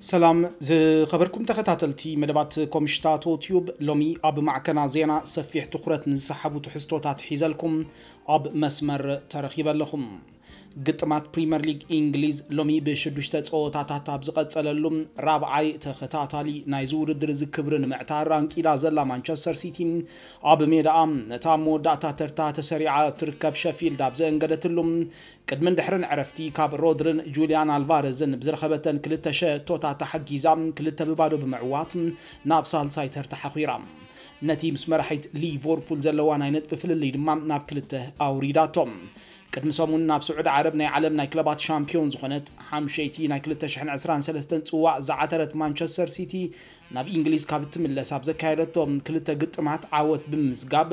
ሰላም ዝኸበርኩም ተኸታተልቲ መደባት ኮምሽታቶ ቲዩብ፣ ሎሚ ኣብ ማዕከና ዜና ሰፊሕ ትኹረት ንዝሰሓቡ ትሕዝቶታት ሒዘልኩም ኣብ መስመር ተረኺበ ኣለኹም። ግጥማት ፕሪምየር ሊግ እንግሊዝ ሎሚ ብሽዱሽተ ጸወታታት ኣብ ዝቐጸለሉ ራብዓይ ተኸታታሊ ናይዚ ውድድር እዚ ክብሪ ንምዕታር ኣንቂላ ዘላ ማንቸስተር ሲቲ ኣብ ሜዳኣ ነታ መወዳእታ ተርታ ተሰሪዓ ትርከብ ሸፊልድ ኣብ ዘእንገደትሉ ቅድምን ድሕርን ዕረፍቲ ካብ ሮድርን ጁልያን ኣልቫረዝን ብዝረኸበተን ክልተ ሸቶታት ተሓጊዛ ክልተ ብባዶ ብምዕዋት ናብ ሳልሳይ ተርታ ሓኺራ። ነቲ ምስ መራሒት ሊቨርፑል ዘለዋ ናይ ነጥቢ ፍልልይ ድማ ናብ ክልተ ኣውሪዳቶ። ቅድሚ ሰሙን ናብ ስዑዲ ዓረብ ናይ ዓለም ናይ ክለባት ሻምፒዮን ዝኾነት ሓምሸይቲ ናይ ክልተ ሽሕን ዕስራን ሰለስተን ጽዋእ ዝዓተረት ማንቸስተር ሲቲ ናብ እንግሊዝ ካብ እትምለስ ኣብ ዘካየደቶ ክልተ ግጥማት ዓወት ብምምዝጋብ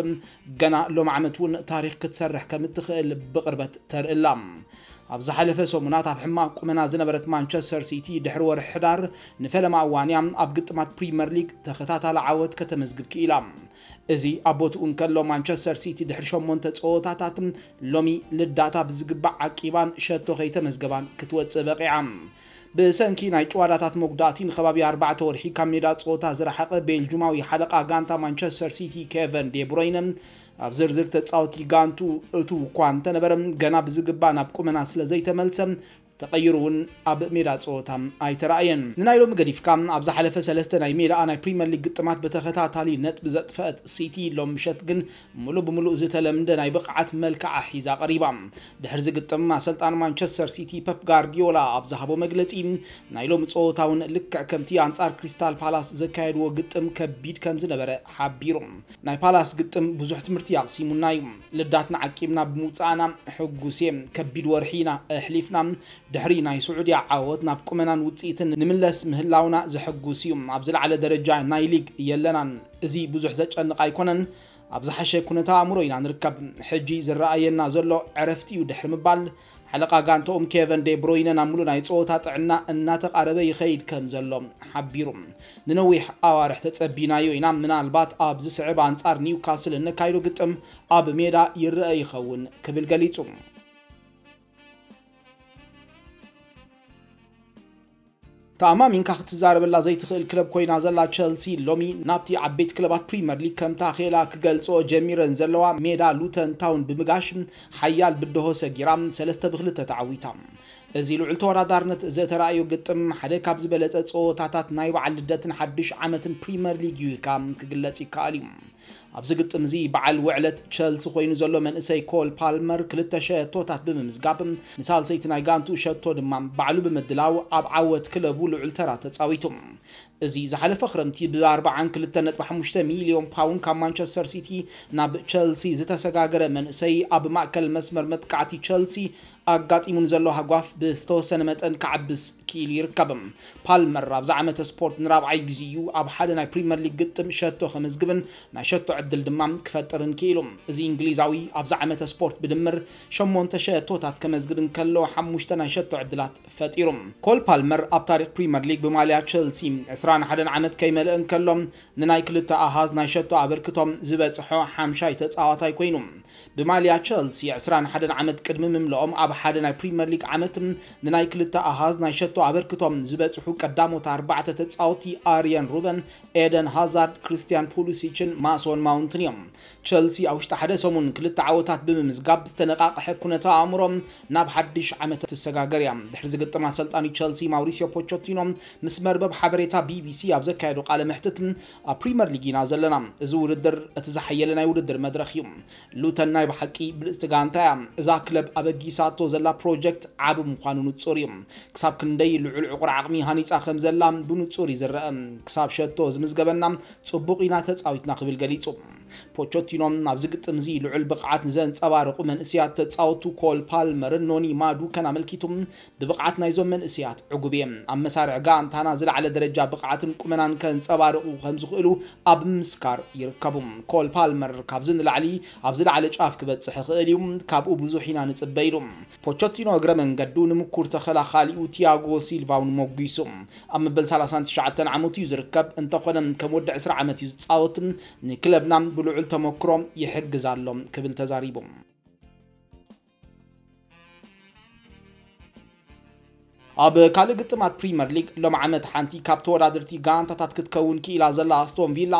ገና ሎም ዓመት እውን ታሪኽ ክትሰርሕ ከም እትኽእል ብቕርበት ተርእላ። ኣብ ዝሓለፈ ሰሙናት ኣብ ሕማቕ ቁመና ዝነበረት ማንቸስተር ሲቲ ድሕሪ ወርሒ ሕዳር ንፈለማ እዋን እያ ኣብ ግጥማት ፕሪምየር ሊግ ተኸታታሊ ዓወት ከተመዝግብ ክኢላ። እዚ ኣብ ቦትኡ እንከሎ ማንቸስተር ሲቲ ድሕሪ ሸሞንተ ጸወታታት ሎሚ ልዳታ ብዝግባእ ዓቂባን ሸቶ ከይተመዝገባን ክትወጽእ በቒዓ። ብሰንኪ ናይ ጭዋዳታት መጉዳእቲ ንከባቢ ኣርባዕተ ወርሒ ካብ ሜዳ ጸወታ ዝረሓቐ ቤልጁማዊ ሓለቓ ጋንታ ማንቸስተር ሲቲ ኬቨን ዴብሮይነ ኣብ ዝርዝር ተጻወቲ ጋንቱ እቱ እኳ እንተነበረ ገና ብዝግባእ ናብ ቁመና ስለ ዘይተመልሰ ተቐይሩ እውን ኣብ ሜዳ ጸወታ ኣይተራእየን። ንናይ ሎሚ ገዲፍካ ኣብ ዝሓለፈ ሰለስተ ናይ ሜዳኣ ናይ ፕሪምየር ሊግ ግጥማት ብተኸታታሊ ነጥቢ ዘጥፈአት ሲቲ ሎም ምሸት ግን ምሉእ ብምሉእ ዝተለምደ ናይ ብቕዓት መልክዓ ሒዛ ቀሪባ። ድሕሪ ዝግጥም ኣሰልጣን ማንቸስተር ሲቲ ፐፕ ጋርዲዮላ ኣብ ዝሃቦ መግለጺ ናይ ሎሚ ጸወታ እውን ልክዕ ከምቲ ኣንጻር ክሪስታል ፓላስ ዘካየድዎ ግጥም ከቢድ ከም ዝነበረ ሓቢሩ። ናይ ፓላስ ግጥም ብዙሕ ትምህርቲ ኣቕሲሙና እዩ። ልዳትና ዓቂብና ብምውጻእና ሕጉስ እየ። ከቢድ ወርሒ ኢና ኣሕሊፍና። ድሕሪ ናይ ስዑድያ ዓወት ናብ ቁመናን ውጽኢትን ንምለስ ምህላውና ዘሐጉስ እዩ። ኣብ ዝለዓለ ደረጃ ናይ ሊግ የለናን። እዚ ብዙሕ ዘጨንቕ ኣይኮነን። ኣብ ዝሓሸ ኩነታ ኣእምሮ ኢና ንርከብ። ሕጂ ዝረኣየና ዘሎ ዕረፍቲ እዩ ድሕሪ ምባል ሓለቓ ጋንታኦም ኬቨን ዴ ብሮይነ ናብ ምሉእ ናይ ጸወታ ጥዕና እናተቓረበ ይኸይድ ከም ዘሎ ሓቢሩ። ንነዊሕ ኣዋርሕ ተጸቢናዮ ኢና፣ ምናልባት ኣብ ዝስዕብ ኣንጻር ኒውካስል እነካይዶ ግጥም ኣብ ሜዳ ይረአ ይኸውን ክብል ገሊጹ። ተኣማሚንካ ክትዛረበላ ዘይትኽእል ክለብ ኮይና ዘላ ቸልሲ ሎሚ ናብቲ ዓበይቲ ክለባት ፕሪምየር ሊግ ከምታ ኼላ ክገልጾ ጀሚረን ዘለዋ ሜዳ ሉተን ታውን ብምጋሽ ሓያል ብድሆ ሰጊራ ሰለስተ ብክልተ ተዓዊታ። እዚ ልዑል ተወዳዳርነት ዘተራእዮ ግጥም ሓደ ካብ ዝበለጸ ጸወታታት ናይ በዓል ልደትን ሓድሽ ዓመትን ፕሪምየር ሊግ እዩ ኢልካ ክግለጽ ይከኣል እዩ። ኣብዚ ግጥም እዚ በዓል ውዕለት ቸልሲ ኮይኑ ዘሎ መንእሰይ ኮል ፓልመር ክልተ ሸቶታት ብምምዝጋብ ንሳልሰይቲ ናይ ጋንቱ ሸቶ ድማ ባዕሉ ብምድላው ኣብ ዓወት ክለቡ ልዑል ተራ ተጻዊቱ። እዚ ዝሓለፈ ክረምቲ ብ ኣርብዓን ክልተ ነጥቢ ሓሙሽተ ሚልዮን ፓውንድ ካብ ማንቸስተር ሲቲ ናብ ቸልሲ ዝተሰጋገረ መንእሰይ ኣብ ማእከል መስመር መጥቃዕቲ ቸልሲ ኣጋጢሙ ንዘሎ ሃጓፍ ብዝተወሰነ መጠን ክዓብስ ክኢሉ ይርከብ። ፓልመር ኣብዚ ዓመተ ስፖርት ንራብዓይ ግዜ እዩ ኣብ ሓደ ናይ ፕሪምየር ሊግ ግጥም ሸቶ ከመዝግብን ናይ ሸቶ ዕድል ድማ ክፈጥርን ክኢሉ። እዚ እንግሊዛዊ ኣብዚ ዓመተ ስፖርት ብድምር ሸሞንተ ሸቶታት ከመዝግብ እንከሎ ሓሙሽተ ናይ ሸቶ ዕድላት ፈጢሩ። ኮል ፓልመር ኣብ ታሪኽ ፕሪምየር ሊግ ብማልያ ቸልሲ ዕስራን ሓደን ዓመት ከይመልእ እንከሎ ንናይ ክልተ ኣሃዝ ናይ ሸቶ ኣበርክቶም ዝበጽሖ ሓምሻይ ተጻዋታይ ኮይኑ። ብማልያ ቸልሲ ዕስራን ሓደን ዓመት ቅድሚ ምምልኦም ኣብ ሓደ ናይ ፕሪምየር ሊግ ዓመት ንናይ ክልተ ኣሃዝ ናይ ሸቶ ኣበርክቶም ዝበጽሑ ቀዳሞት ኣርባዕተ ተጻወቲ ኣርየን ሩበን፣ ኤደን ሃዛርድ፣ ክሪስቲያን ፑሊሲችን ማሶን ማውንትን እዮም። ቸልሲ ኣብ ውሽጢ ሓደ ሰሙን ክልተ ዓወታት ብምምዝጋብ ዝተነቃቕሐ ኩነተ ኣእምሮ ናብ ሓድሽ ዓመት ትሰጋገር እያ። ድሕሪ ዝግጥም ኣሰልጣኒ ቸልሲ ማውሪሲዮ ፖቾቲኖ ምስ መርበብ ሓበሬታ ቢቢሲ ኣብ ዘካየዶ ቃለ መሕትት ኣብ ፕሪምየር ሊግ ኢና ዘለና። እዚ ውድድር እቲ ዝሓየለ ናይ ውድድር መድረኽ እዩ። ሉተን ናይ ብሓቂ ብልጽቲ ጋንታ እያ። እዛ ክለብ ኣበጊሳቶ ዘላ ፕሮጀክት ዓቢ ምዃኑ ንጹር እዩ። ክሳብ ክንደይ ልዑል ዕቑር ዓቕሚ ሃኒጻ ከም ዘላ ብንጹር እዩ ዝረአ። ክሳብ ሸቶ ዝምዝገበና ጽቡቕ ኢና ተጻዊትና ክብል ገሊጹ። ፖቾቲኖ ኣብዚ ግጥም እዚ ልዑል ብቕዓት ንዘንጸባርቑ መንእስያት ተጻወቱ ኮል ፓልመርን ኖኒ ማዱከን ኣመልኪቱ ብብቕዓት ናይዞም መንእስያት ዕጉብ እየ። ኣብ መሳርዕ ጋንታና ዝለዓለ ደረጃ ብቕዓትን ቁመናን ከንጸባርቑ ከም ዝኽእሉ ኣብ ምስካር ይርከቡ። ኮል ፓልመር ካብዚ ንላዕሊ ኣብ ዝለዓለ ጫፍ ክበጽሕ ይኽእል እዩ፣ ካብኡ ብዙሕ ኢና ንጽበ ኢሉ። ፖቸቲኖ እግረ መንገዱ ንምኩር ተኸላኻሊኡ ቲያጎ ሲልቫ እውን ሞጒሱ። ኣብ መበል ሰላሳን ትሽዓተን ዓመቱ እዩ ዝርከብ፣ እንተኾነ ከም ወዲ ዕስራ ዓመት እዩ ዝጻወት። ንክለብና ብልዑል ተመክሮ ይሕግዝ ኣሎ ክብል ተዛሪቡ። ኣብ ካልእ ግጥማት ፕሪመር ሊግ፣ ሎም ዓመት ሓንቲ ካብ ተወዳደርቲ ጋንታታት ክትከውን ክኢላ ዘላ ኣስቶን ቪላ፣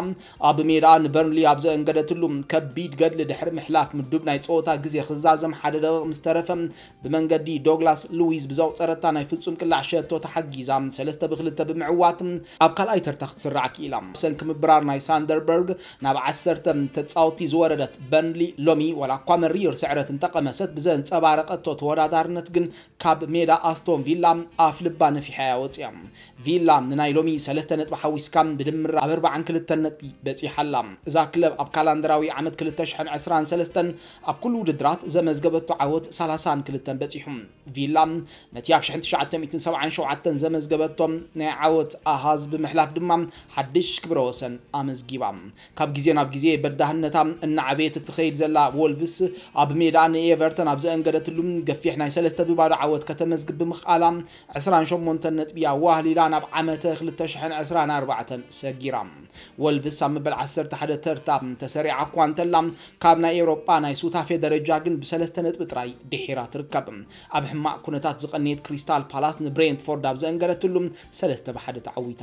ኣብ ሜዳ ንበርንሊ ኣብ ዘእንገደትሉ ከቢድ ገድሊ ድሕሪ ምሕላፍ፣ ምዱብ ናይ ጸወታ ግዜ ክዛዘም ሓደ ደቂቕ ምስ ተረፈ፣ ብመንገዲ ዶግላስ ሉዊዝ ብዘቑጸረታ ናይ ፍጹም ቅላዕ ሸቶ ተሓጊዛ፣ ሰለስተ ብክልተ ብምዕዋት ኣብ ካልኣይ ተርታ ክትስራዕ ክኢላ። ብሰንኪ ምብራር ናይ ሳንደርበርግ ናብ ዓሰርተ ተጻወትቲ ዝወረደት በርንሊ፣ ሎሚ ዋላ እኳ መሪር ስዕረት እንተቐመሰት፣ ብዘንጸባረቐቶ ተወዳዳርነት ግን ካብ ሜዳ ኣስቶን ቪላ ኣፍ ልባ ነፊሓ እያ ወፂኣ። ቪላ ንናይ ሎሚ ሰለስተ ነጥቢ ሓዊስካ ብድምር ኣብ ኣርባዓን ክልተን ነጥቢ በፂሓ ኣላ። እዛ ክለብ ኣብ ካላንደራዊ ዓመት ክልተ ሽሕን ዕስራን ሰለስተን ኣብ ኩሉ ውድድራት ዘመዝገበቶ ዓወት ሰላሳን ክልተን በፂሑ። ቪላ ነቲ ኣብ ሽሕን ትሽዓተ ሚእትን ሰብዓን ሸውዓተን ዘመዝገበቶ ናይ ዓወት ኣሃዝ ብምሕላፍ ድማ ሓድሽ ክብረ ወሰን ኣመዝጊባ። ካብ ግዜ ናብ ግዜ በዳህነታ እናዓበየት እትኸይድ ዘላ ወልቭስ፣ ኣብ ሜዳ ንኤቨርተን ኣብ ዘእንገደትሉ ገፊሕ ናይ ሰለስተ ብባዶ ዓወት ከተመዝግብ ብምኽኣላ፣ ዕስራን ሸሞንተን ነጥቢ ኣዋህሊላ ናብ ዓመተ ክልተ ሽሕን ዕስራን ኣርባዕተን ሰጊራ። ወልቭስ ኣብ መበል ዓሰርተ ሓደ ተርታ ተሰሪዓ እኳ እንተላ፣ ካብ ናይ ኤውሮጳ ናይ ሱታፌ ደረጃ ግን ብሰለስተ ነጥቢ ጥራይ ድሒራ ትርከብ። ኣብ ሕማቕ ኩነታት ዝቐነየት ክሪስታል ፓላስ ንብሬንትፎርድ ኣብ ዘእንገደትሉ ሰለስተ ብሓደ ተዓዊታ።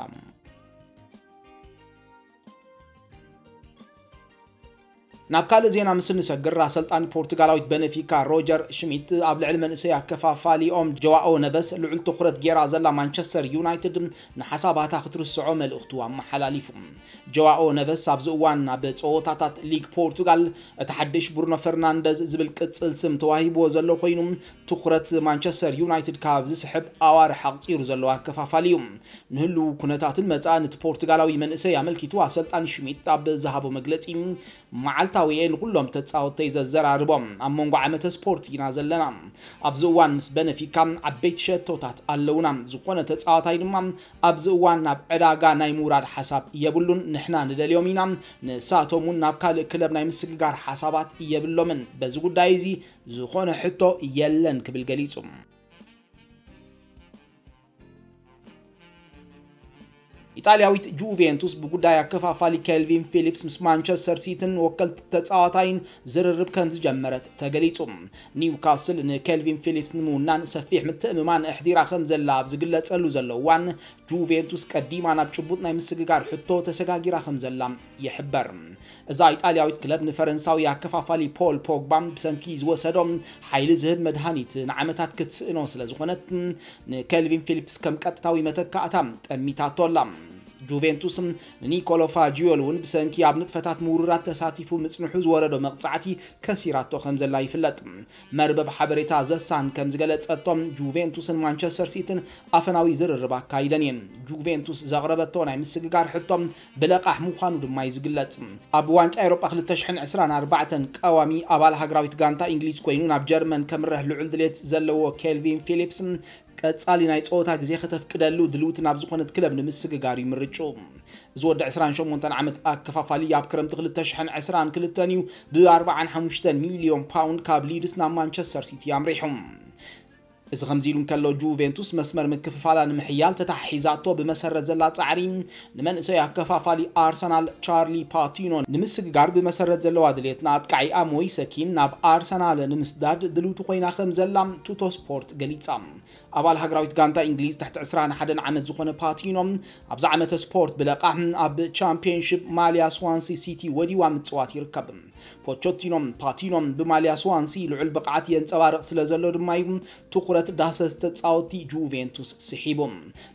ናብ ካልእ ዜና ምስ እንሰግር፣ ኣሰልጣኒ ፖርቱጋላዊት በነፊካ ሮጀር ሽሚት ኣብ ልዕሊ መንእሰይ ኣከፋፋሊኦም ጆዋኦ ነቨስ ልዑል ትኹረት ጌራ ዘላ ማንቸስተር ዩናይትድ ንሓሳባታ ክትርስዖ መልእኽቱ ኣመሓላሊፉ። ጆዋኦ ነቨስ ኣብዚ እዋን ኣብ ጸወታታት ሊግ ፖርቱጋል እቲ ሓድሽ ብሩኖ ፈርናንደዝ ዝብል ቅጽል ስም ተዋሂብዎ ዘሎ ኮይኑ፣ ትኹረት ማንቸስተር ዩናይትድ ካብ ዝስሕብ ኣዋርሕ ኣቕጺሩ ዘሎ ኣከፋፋሊ እዩ። ንህልው ኩነታትን መጻእን እቲ ፖርቱጋላዊ መንእሰይ ኣመልኪቱ ኣሰልጣኒ ሽሚት ኣብ ዝሃቦ መግለጺ፣ መዓልታዊ እየ ንኹሎም ተጻወትተይ ዘዘራርቦም። ኣብ መንጎ ዓመተ ስፖርት ኢና ዘለና። ኣብዚ እዋን ምስ በነፊካ ዓበይቲ ሸቶታት ኣለውና። ዝኾነ ተጻዋታይ ድማ ኣብዚ እዋን ናብ ዕዳጋ ናይ ምውራድ ሓሳብ የብሉን። ንሕና ንደልዮም ኢና። ንሳቶም እውን ናብ ካልእ ክለብ ናይ ምስግጋር ሓሳባት የብሎምን። በዚ ጉዳይ እዚ ዝኾነ ሕቶ የለን ክብል ገሊጹ። ኢጣልያዊት ጁቬንቱስ ብጉዳይ ኣከፋፋሊ ኬልቪን ፊሊፕስ ምስ ማንቸስተር ሲቲን ወከልቲ ተጻዋታይን ዝርርብ ከም ዝጀመረት ተገሊጹ። ኒውካስል ንኬልቪን ፊሊፕስ ንምውናን ሰፊሕ ምትእምማን ኣሕዲራ ከም ዘላ ኣብ ዝግለጸሉ ዘሎ እዋን፣ ጁቬንቱስ ቀዲማ ናብ ጭቡጥ ናይ ምስግጋር ሕቶ ተሰጋጊራ ከም ዘላ ይሕበር። እዛ ኢጣልያዊት ክለብ ንፈረንሳዊ ኣከፋፋሊ ፖል ፖግባ ብሰንኪ ዝወሰዶ ሓይሊ ዝህብ መድሃኒት ንዓመታት ክትስእኖ ስለ ዝኾነት፣ ንኬልቪን ፊሊፕስ ከም ቀጥታዊ መተካእታ ጠሚታቶ ኣላ። ጁቬንቱስ ንኒኮሎ ፋጂዮል እውን ብሰንኪ ኣብ ንጥፈታት ምውርራት ተሳቲፉ ምጽንሑ ዝወረዶ መቕጻዕቲ ከሲራቶ ከም ዘላ ይፍለጥ። መርበብ ሓበሬታ ዘሳን ከም ዝገለጸቶም፣ ጁቬንቱስን ማንቸስተር ሲቲን ኣፈናዊ ዝርርብ ኣካይደን እየን። ጁቬንቱስ ዘቕረበቶ ናይ ምስግጋር ሕቶ ብለቓሕ ምዃኑ ድማ እዩ ዝግለጽ። ኣብ ዋንጫ ኤውሮጳ ክልተ ሽሕን ዕስራን ኣርባዕተን ቀዋሚ ኣባል ሃገራዊት ጋንታ እንግሊዝ ኮይኑ ናብ ጀርመን ከምርሕ ልዑል ድሌት ዘለዎ ኬልቪን ፊሊፕስ፣ ቀጻሊ ናይ ጸወታ ግዜ ከተፍቅደሉ ድልውቲ ናብ ዝኾነት ክለብ ንምስግጋር እዩ ምርጭኡ። እዚ ወዲ ዕስራን ሸሞንተን ዓመት ኣከፋፋሊ ኣብ ክረምቲ ክልተ ሽሕን ዕስራን ክልተን እዩ ብ ኣርባዓን ሓሙሽተን ሚልዮን ፓውንድ ካብ ሊድስ ናብ ማንቸስተር ሲቲ ኣምሪሑ። እዚ ከምዚ ኢሉ እንከሎ፣ ጁቬንቱስ መስመር ምክፍፋላ ንምሕያል ተታሒዛቶ ብመሰረት ዘላ ጻዕሪ፣ ንመንእሰይ ኣከፋፋሊ ኣርሰናል ቻርሊ ፓቲኖ ንምስግጋር ብመሰረት ዘለዋ ድሌት፣ ንኣጥቃዒኣ ሞይሰ ኪን ናብ ኣርሰናል ንምስዳድ ድልውቲ ኮይና ከም ዘላ ቱቶ ስፖርት ገሊጻ። ኣባል ሃገራዊት ጋንታ እንግሊዝ ትሕቲ ዕስራን ሓደን ዓመት ዝኾነ ፓቲኖ፣ ኣብዚ ዓመተ ስፖርት ብለቓሕ ኣብ ቻምፒየንሺፕ ማልያ ስዋንሲ ሲቲ ወዲዋ ምጽዋት ይርከብ። ፖቾቲኖ፣ ፓቲኖ ብማልያ ስዋንሲ ልዑል ብቕዓት የንጸባርቕ ስለ ዘሎ ድማ እዩ ትኹረት ዳህሰስ ተጻወትቲ ጁቬንቱስ ስሒቡ።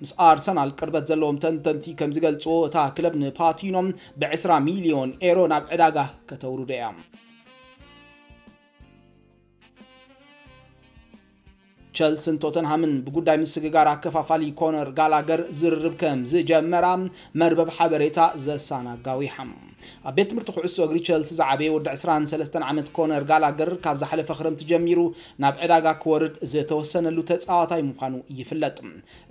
ምስ ኣርሰናል ቅርበት ዘለዎም ተንተንቲ ከም ዝገልጽዎ፣ እታ ክለብ ንፓቲኖ ብዕስራ ሚልዮን ኤሮ ናብ ዕዳጋ ከተውርዶ እያ። ቸልስን ቶተንሃምን ብጉዳይ ምስግጋር ኣከፋፋሊ ኮነር ጋላገር ዝርርብ ከም ዝጀመራ መርበብ ሓበሬታ ዘሳን ኣጋዊሓ። ኣብ ቤት ትምህርቲ ኩዕሶ እግሪ ቸልሲ ዝዓበየ ወዲ ዕስራን ሰለስተን ዓመት ኮነር ጋላገር፣ ካብ ዝሓለፈ ክረምቲ ጀሚሩ ናብ ዕዳጋ ክወርድ ዝተወሰነሉ ተጻዋታይ ምዃኑ ይፍለጥ።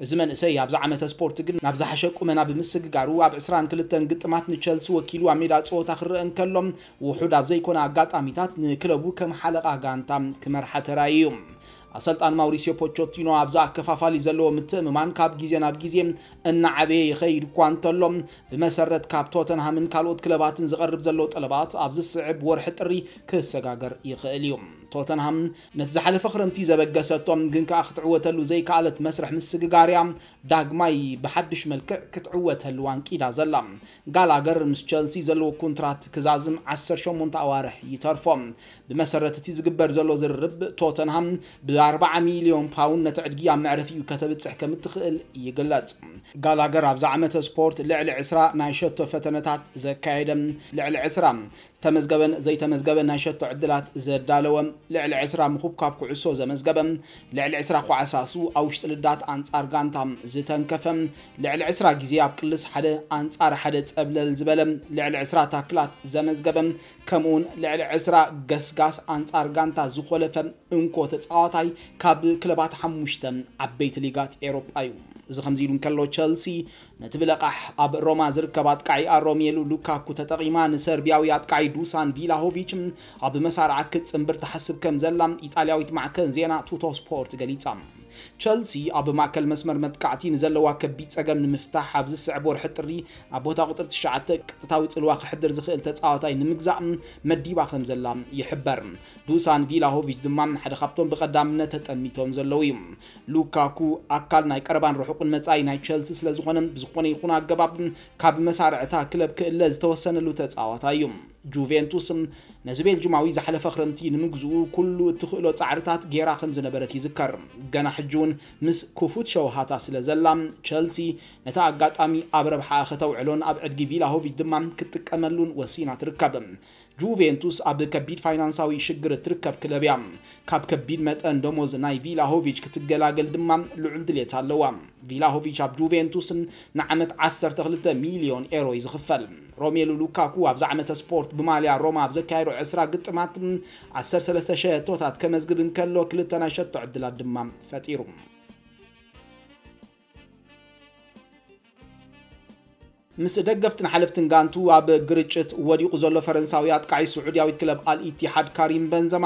እዚ መንእሰይ ኣብዚ ዓመተ ስፖርት ግን ናብ ዝሓሸ ቁመና ብምስግጋሩ፣ ኣብ ዕስራን ክልተን ግጥማት ንቸልሲ ወኪሉ ኣብ ሜዳ ጸወታ ክረአ እንከሎ፣ ውሑድ ኣብ ዘይኮነ ኣጋጣሚታት ንክለቡ ከም ሓለቓ ጋንታ ክመርሓ ተራእዩ እዩ። ኣሰልጣን ማውሪሲዮ ፖቾቲኖ ኣብዚ ኣከፋፋሊ ዘለዎ ምትእምማን ካብ ግዜ ናብ ግዜ እናዓበየ ይኸይድ እኳ እንተሎ፣ ብመሰረት ካብ ቶተንሃምን ካልኦት ክለባትን ዝቐርብ ዘሎ ጠለባት፣ ኣብ ዝስዕብ ወርሒ ጥሪ ክሰጋገር ይኽእል እዩ። ቶተንሃም ነቲ ዝሓለፈ ክረምቲ ዘበገሰቶም ግን ከኣ ክትዕወተሉ ዘይከኣለት መስርሕ ምስግጋር እያ ዳግማይ ብሓድሽ መልክዕ ክትዕወተሉ ኣንቂዳ ዘላ። ጋላገር ምስ ቸልሲ ዘለዎ ኮንትራት ክዛዝም ዓሰርተ ሸሞንተ ኣዋርሕ ይተርፎ። ብመሰረት እቲ ዝግበር ዘሎ ዝርርብ፣ ቶተንሃም ብ ኣርባዓ ሚልዮን ፓውንድ ነቲ ዕድጊ ኣብ መዕረፊኡ ከተብጽሕ ከም እትኽእል ይግለጽ። ጋላገር ኣብዚ ዓመተ ስፖርት ልዕሊ ዕስራ ናይ ሸቶ ፈተነታት ዘካየደ፣ ልዕሊ ዕስራ ዝተመዝገበን ዘይተመዝገበን ናይ ሸቶ ዕድላት ዘዳለወ፣ ልዕሊ ዕስራ ምኹብኳብ ኩዕሶ ዘመዝገበ፣ ልዕሊ ዕስራ ኳዕሳሱ ኣብ ውሽጢ ልዳት ኣንጻር ጋንታ ዝተንከፈ፣ ልዕሊ ዕስራ ግዜ ኣብ ቅልስ ሓደ ኣንጻር ሓደ ጸብለል ዝበለ፣ ልዕሊ ዕስራ ታክላት ዘመዝገበ፣ ከምኡውን ልዕሊ ዕስራ ገስጋስ ኣንጻር ጋንታ ዝኾለፈ እንኮ ተጻዋታይ ካብ ክለባት ሓሙሽተ ዓበይቲ ሊጋት ኤሮጳ እዩ። እዚ ከምዚ ኢሉ እንከሎ፣ ቸልሲ ነቲ ብለቓሕ ኣብ ሮማ ዝርከብ ኣጥቃዒኣ ሮሜሉ ሉካኩ ተጠቒማ ንሰርቢያዊ ኣጥቃዒ ዱሳን ቪላሆቪች ኣብ መሳርዓ ክትጽንብር ትሓስብ ከም ዘላ ኢጣልያዊት ማዕከን ዜና ቱቶ ስፖርት ገሊጻ። ቸልሲ ኣብ ማእከል መስመር መጥቃዕቲ ንዘለዋ ከቢድ ጸገም ንምፍታሕ ኣብ ዝስዕብ ወርሒ ጥሪ ኣብ ቦታ ቁጽሪ ትሽዓተ ቀጥታዊ ጽልዋ ክሕድር ዝኽእል ተጻዋታይ ንምግዛእ መዲባ ከም ዘላ ይሕበር። ዱሳን ቪላሆቪች ድማ ሓደ ካብቶም ብቐዳምነት ተጠሚቶም ዘለዉ እዩ። ሉካኩ ኣካል ናይ ቀረባን ርሑቕን መጻኢ ናይ ቸልሲ ስለ ዝኾነ፣ ብዝኾነ ይኹን ኣገባብ ካብ መሳርዕታ ክለብ ክእለ ዝተወሰነሉ ተጻዋታይ እዩ። ጁቬንቱስ ነዚ ቤልጅማዊ ዝሓለፈ ክረምቲ ንምግዝኡ ኩሉ እትኽእሎ ጻዕርታት ጌራ ከም ዝነበረት ይዝከር። ገና ሕጂ እውን ምስ ክፉት ሸውሃታ ስለ ዘላ፣ ቸልሲ ነቲ ኣጋጣሚ ኣብ ረብሓኣ ከተውዕሎን ኣብ ዕድጊ ቪላሆቪች ድማ ክትጥቀመሉን ወሲና ትርከብ። ጁቬንቱስ ኣብ ከቢድ ፋይናንሳዊ ሽግር እትርከብ ክለብ እያ። ካብ ከቢድ መጠን ደሞዝ ናይ ቪላሆቪች ክትገላገል ድማ ልዑል ድሌት ኣለዋ። ቪላሆቪች ኣብ ጁቬንቱስ ንዓመት ዓሰርተ ክልተ ሚልዮን ኤሮ እዩ ዝኽፈል። ሮሜሉ ሉካኩ ኣብዚ ዓመተ ስፖርት ብማልያ ሮማ ኣብ ዘካየዶ ዕስራ ግጥማት ዓሰርተ ሰለስተ ሸቶታት ከመዝግብ እንከሎ፣ ክልተ ናይ ሸቶ ዕድላት ድማ ፈጢሩ። ምስ ደገፍትን ሓለፍትን ጋንቱ ኣብ ግርጭት ወዲቑ ዘሎ ፈረንሳዊ ኣጥቃዒ ስዑድያዊት ክለብ ኣል ኢቲሓድ ካሪም በንዘማ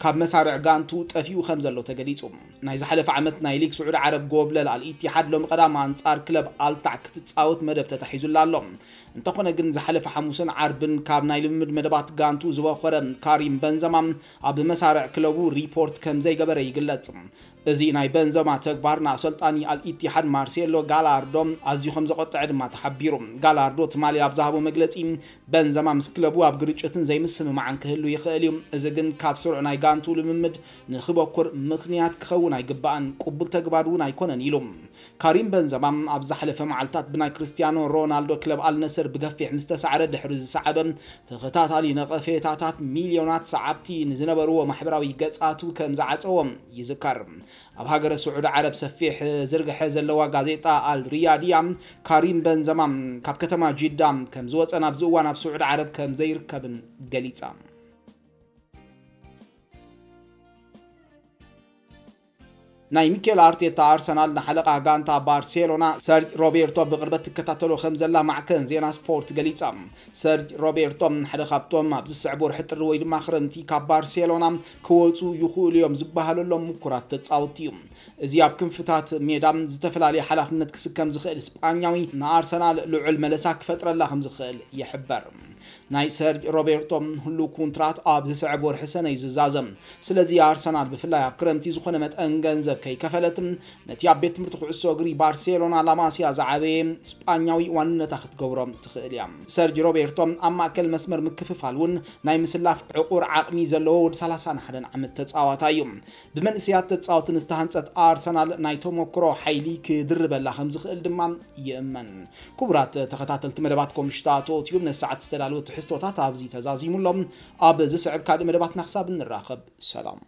ካብ መሳርዕ ጋንቱ ጠፊኡ ከም ዘሎ ተገሊጹ። ናይ ዝሓለፈ ዓመት ናይ ሊግ ስዑዲ ዓረብ ጎብለል ኣል ኢቲሓድ ሎሚ ቀዳም ኣንጻር ክለብ ኣልታዕ ክትጻወት መደብ ተታሒዙላ ኣሎ። እንተኾነ ግን ዝሓለፈ ሓሙስን ዓርብን ካብ ናይ ልምምድ መደባት ጋንቱ ዝበኾረ ካሪም በንዘማ ኣብ መሳርዕ ክለቡ ሪፖርት ከም ዘይገበረ ይግለጽ። እዚ ናይ በንዘማ ተግባር ንኣሰልጣኒ ኣልኢቲሓድ ማርሴሎ ጋላርዶ ኣዝዩ ከም ዘቖጥዐ ድማ ተሓቢሩ። ጋላርዶ ትማሊ ኣብ ዝሃቦ መግለጺ፣ በንዘማ ምስ ክለቡ ኣብ ግርጭትን ዘይምስምማዕን ክህሉ ይኽእል እዩ፣ እዚ ግን ካብ ስሩዕ ናይ ጋንቱ ልምምድ ንኽበኩር ምኽንያት ክኸውን ኣይግባእን፣ ቅቡል ተግባር እውን ኣይኮነን ኢሉ። ካሪም በንዘማ ኣብ ዝሓለፈ መዓልታት ብናይ ክርስቲያኖ ሮናልዶ ክለብ ኣልነስር ብገፊሕ ምስ ተሳዕረ ድሕሪ ዝሰዓበ ተኸታታሊ ነቐፌታታት፣ ሚልዮናት ሰዓብቲ ንዝነበርዎ ማሕበራዊ ገጻቱ ከም ዝዓጸዎ ይዝከር። ኣብ ሃገረ ስዑዲ ዓረብ ሰፊሕ ዝርግሐ ዘለዋ ጋዜጣ ኣል ሪያድያ፣ ካሪም በንዘማ ካብ ከተማ ጂዳ ከም ዝወጸን ኣብዚ እዋን ኣብ ስዑዲ ዓረብ ከም ዘይርከብን ገሊጻ። ናይ ሚኬል ኣርቴታ ኣርሰናል ንሓለቓ ጋንታ ባርሴሎና ሰርጅ ሮቤርቶ ብቕርበት ትከታተሎ ከም ዘላ ማዕከን ዜና ስፖርት ገሊጻ። ሰርጅ ሮቤርቶ ሓደ ካብቶም ኣብ ዝስዕብ ወርሒ ጥሪ ወይ ድማ ክረምቲ ካብ ባርሴሎና ክወጹ ይኽእሉ እዮም ዝበሃለሎም ምኩራት ተጻወትቲ እዩ። እዚ ኣብ ክንፍታት ሜዳ ዝተፈላለየ ሓላፍነት ክስከም ዝኽእል ስጳኛዊ ንኣርሰናል ልዑል መለሳ ክፈጥረላ ከም ዝኽእል ይሕበር። ናይ ሰርጅ ሮቤርቶ ህሉው ኮንትራት ኣብ ዝስዕብ ወርሒ ሰነ እዩ ዝዛዘም። ስለዚ ኣርሰናል ብፍላይ ኣብ ክረምቲ ዝኾነ መጠን ገንዘብ ከይከፈለት ነቲ ኣብ ቤት ትምህርቲ ኩዕሶ እግሪ ባርሴሎና ላማሲያ ዝዓበየ ስጳኛዊ ዋንነታ ክትገብሮ ትኽእል እያ። ሰርጅ ሮቤርቶ ኣብ ማእከል መስመር ምክፍፋል እውን ናይ ምስላፍ ዕቑር ዓቕሚ ዘለዎ ወዲ ሰላሳን ሓደን ዓመት ተጻዋታይ እዩ። ብመንእሰያት ተጻወትን ዝተሃንጸት ኣርሰናል ናይ ተሞክሮ ሓይሊ ክድርበላ ከም ዝኽእል ድማ ይእመን። ክቡራት ተኸታተልቲ መደባት ኮምሽታ ቶትዩም ነሰዓት ዝተዳለወ ትሕዝቶታት ኣብዚ ተዛዚሙሎም። ኣብ ዝስዕብ ካልእ መደባትና ክሳብ እንራኸብ ሰላም።